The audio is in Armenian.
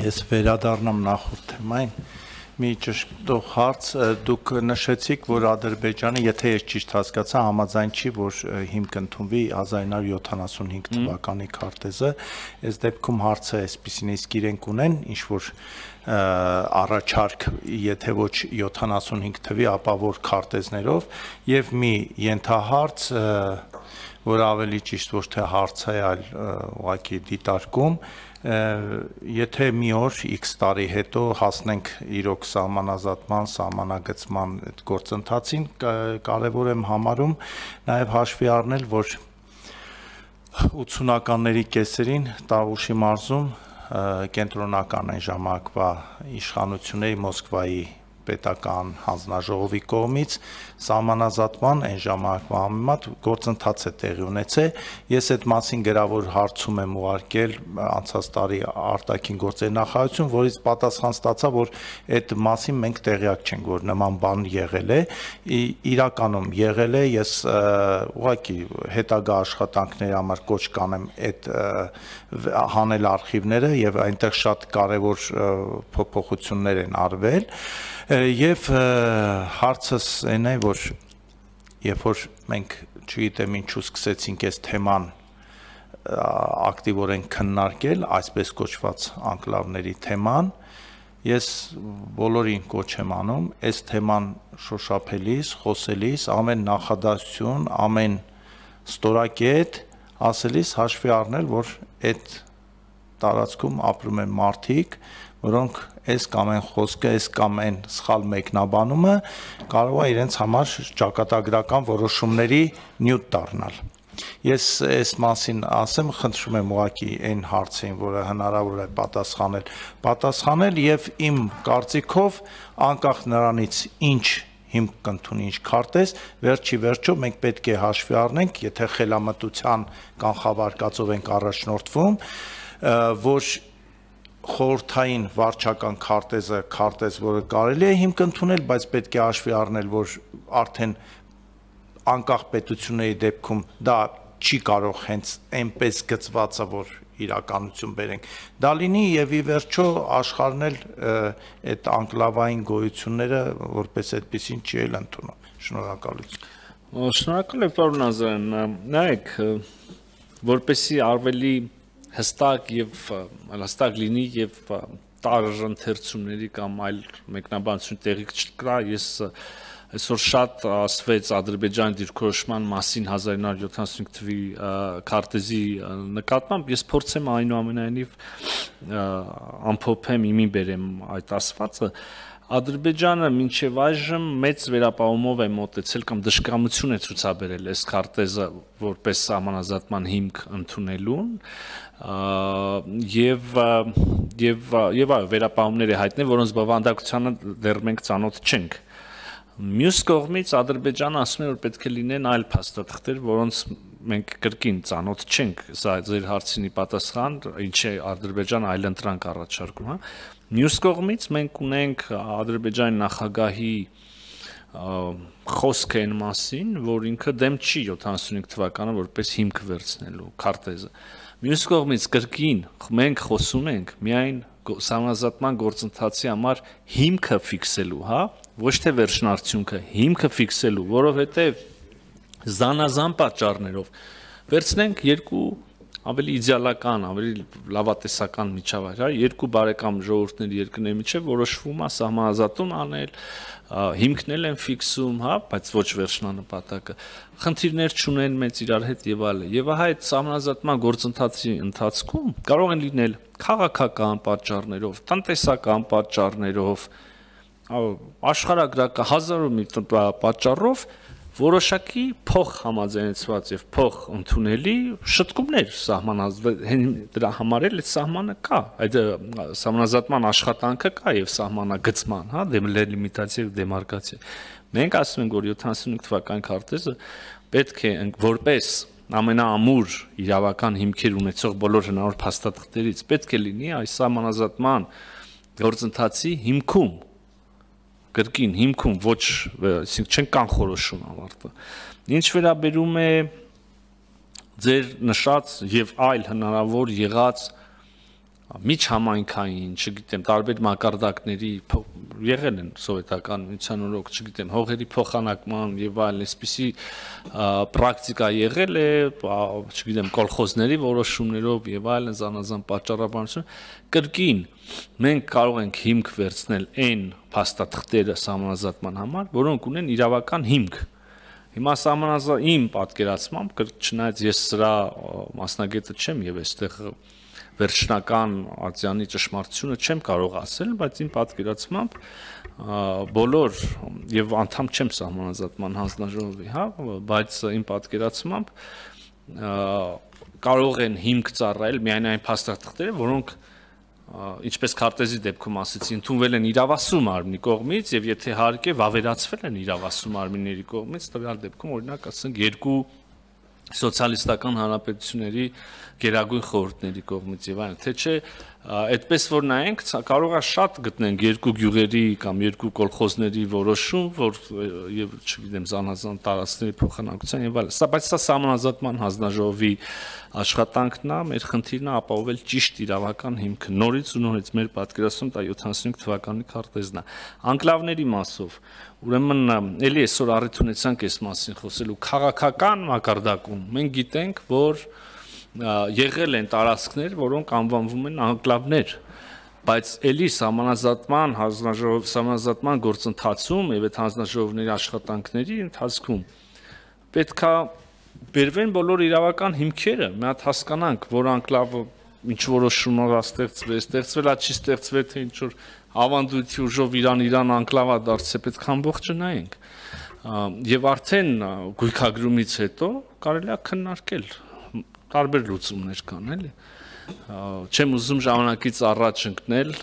Ես վերադառնամ նախորդ թեմային, մի ճշտող հարց, դուք նշեցիք, որ Ադրբեջանը, եթե ես ճիշտ հասկացա, համաձայն չի, որ հիմք ընդունվի 1975 թվականի քարտեզը, այս դեպքում հարցը այսպիսին է, իսկ իրենք ունեն ինչ-որ առաջարկ, եթե ոչ 75 թվի, ապա որ քարտեզներով, եւ մի ենթահարց, որ ավելի ճիշտ ոչ թե հարց է, այլ ուղղակի դիտարկում, եթե մի օր X տարի հետո հասնենք իրոք սահմանազատման, սահմանագծման այդ գործընթացին, կարևոր եմ համարում նաև հաշվի առնել, որ 80-ականների կեսերին Տավուշի մարզում կենտրոնական այն ժամանակվա իշխանությունների Մոսկվայի պետական հանձնաժողովի կողմից սահմանազատման այն ժամանակվա համեմատ գործընթաց է տեղի ունեցել։ Ես այդ մասին գրավոր հարցում եմ ուղարկել անցած տարի արտաքին գործերի նախարարություն, որից պատասխան ստացա, որ այդ մասին մենք տեղյակ չենք, որ նման բան եղել է, իրականում եղել է, ես ուղղակի հետագա աշխատանքների համար կոչ կանեմ այդ հանել արխիվները եւ այնտեղ շատ կարեւոր փոփոխություններ են արվել եւ հարցս այն է, որ երբ որ մենք չգիտեմ ինչու սկսեցինք այս թեման ակտիվորեն քննարկել, այսպես կոչված անկլավների թեման, ես բոլորին կոչ եմ անում այս թեման շոշափելիս, խոսելիս, ամեն նախադասություն, ամեն ստորակետ ասելիս հաշվի առնել, որ այդ տարածքում ապրում են մարդիկ, որոնք այս կամ այն խոսքը, այս կամ այն սխալ մեկնաբանումը կարող է իրենց համար ճակատագրական որոշումների նյութ դառնալ։ Ես այս մասին ասեմ, խնդրում եմ ուղղակի այն հարցին, որը հնարավոր է պատասխանել եւ իմ կարծիքով անկախ նրանից ինչ հիմք կընդունի ինչ քարտեզ, վերջի վերջո մենք պետք է հաշվի առնենք, եթե խելամտության կանխավարկածով ենք առաջնորդվում, որ խորհրդային վարչական քարտեզը քարտեզ, որը կարելի է հիմք ընդունել, բայց պետք է հաշվի առնել, որ արդեն անկախ պետությունների դեպքում դա չի կարող հենց այնպես գծվածը, որ իրականություն բերենք, դա լինի եւ ի վերջո աշխարհն էլ այդ անկլավային գոյությունները որպես այդպեսին չի էլ ընդունում։ Շնորհակալություն։ Շնորհակալ եմ, պարոն Ազարյան, նայեք, որպեսզի ավելի հստակ եւ հստակ լինի եւ տարընթերցումների կամ այլ մեկնաբանություն տեղի չկա, ես այսօր շատ ասվեց Ադրբեջանի դիրքորոշման մասին 1975 թվի քարտեզի նկատմամբ, ես փորձեմ այնուամենայնիվ ամփոփեմ իմի բերեմ այդ ասվածը, Ադրբեջանը մինչև այժմ մեծ վերապահումով է մոտեցել կամ դժկամություն է ցուցաբերել այս քարտեզը որպես սահմանազատման հիմք ընդունելուն եւ այո վերապահումներ է հայտնել, որոնց բովանդակությանը դեռ մենք ծանոթ չենք։ Մյուս կողմից Ադրբեջանը ասում է, որ պետք է լինեն այլ փաստաթղթեր, որոնց մենք կրկին ծանոթ չենք, սա ձեր հարցինի պատասխան, ինչ է Ադրբեջանը այլ ընտրանք առաջարկում, հա։ Մյուս կողմից մենք ունենք Ադրբեջանի նախագահի խոսքը այն մասին, որ ինքը դեմ չի 75 թվականը որպես հիմք վերցնելու քարտեզը։ Մյուս կողմից կրկին մենք խոսում ենք միայն սահմանազատման գործընթացի համար հիմքը ֆիքսելու, հա, ոչ թե վերջնարդյունքը, հիմքը ֆիքսելու, որովհետև զանազան պատճառներով վերցնենք երկու ավելի իդեալական, ավելի լավատեսական միջավայր, հա, երկու բարեկամ ժողովուրդների երկրների միջև որոշվում է սահմանազատում անել, հիմքնել են ֆիքսում, հա, բայց ոչ վերջնանպատակը, խնդիրներ չունեն մեծ իրար հետ եւ այլն։ Եվ ահա այդ սահմանազատման գործընթացի ընթացքում կարող են լինել քաղաքական պատճառներով, տնտեսական պատճառներով, աշխարհագրական հազարով մի պատճառով որոշակի փող համաձայնեցված եւ փող ընդունելի շտկումներ դրա համար էլ այդ սահմանը կա, այդ սահմանազատման աշխատանքը կա եւ սահմանագծման, հա, դելիմիտացիա եւ դեմարկացիա։ Մենք ասում ենք, որ 75 թվականի քարտեզը պետք է որպես ամենաամուր իրավական հիմքեր ունեցող բոլոր հնարավոր փաստաթղթերից պետք է լինի այս սահմանազատման գործընթացի հիմքում կրկին հիմքում ոչ, այսինքն չեն կանխորոշում ավարտը։ Ինչ վերաբերում է ձեր նշած եւ այլ հնարավոր եղած միջհամայնքային, չգիտեմ, տարբեր մակարդակների եղել են սովետական միության օրոք, չգիտեմ, հողերի փոխանակման եւ այլն, այսպիսի պրակտիկա եղել է, չգիտեմ, կոլխոզների որոշումներով եւ այլն զանազան պատճառաբանություն, կրկին մենք կարող ենք հիմք վերցնել այն փաստաթղթերը սահմանազատման համար, որոնք ունեն իրավական հիմք։ Հիմա իմ պատկերացմամբ, չնայած ես սրա մասնագետը չեմ եւ այստեղ վերջնական արձանի ճշմարտությունը չեմ կարող ասել, բայց իմ պատկերացմամբ բոլոր եւ անդամ չեմ սահմանազատման հանձնաժողովի, հա, բայց իմ պատկերացմամբ կարող են հիմք ծառայել միայն այն փաստաթղթերը, որոնք ինչպես քարտեզի դեպքում ասեցի, ընդունվել են իրավասու մարմնի կողմից եւ եթե հարկ է վավերացվել են իրավասու մարմինների կողմից, տվյալ դեպքում օրինակ ասենք երկու սոցիալիստական հանրապետությունների գերագույն խորհուրդների կողմից եւ այլն, թե չէ, այդպես որ նայենք, կարող է շատ գտնենք երկու գյուղերի կամ երկու կոլխոզների որոշում, որ եւ չգիտեմ, զանազան տարածքների փոխանակության եւ այլն, բայց սա սահմանազատման հանձնաժողովի աշխատանքն է, մեր խնդիրն է ապահովել ճիշտ իրավական հիմքը, նորից ու նորից մեր պատկերացում դա 75 թվականի քարտեզն է, անկլավների մասով, ուրեմն էլի այսօր առիթ ունեցանք այս մասին խոսելու քաղաքական մակարդակում, մենք գիտենք, որ եղել են տարածքներ, որոնք անվանվում են անկլավներ, բայց էլի սահմանազատման գործընթացում եւ այդ հանձնաժողովների աշխատանքների ընթացքում պետք է բերվեն բոլոր իրավական հիմքերը, մի հատ հասկանանք, որ անկլավը ինչ որոշումով ստեղծվել է, չի ստեղծվել, թե ինչ որ ավանդույթի ուժով Իրան անկլավա դարձել, պետք է ամբողջը նայենք եւ արդեն գույքագրումից հետո կարելի է քննարկել տարբեր լուծումներ կան, էլի։ Չեմ ուզում ժամանակից առաջ ընկնել,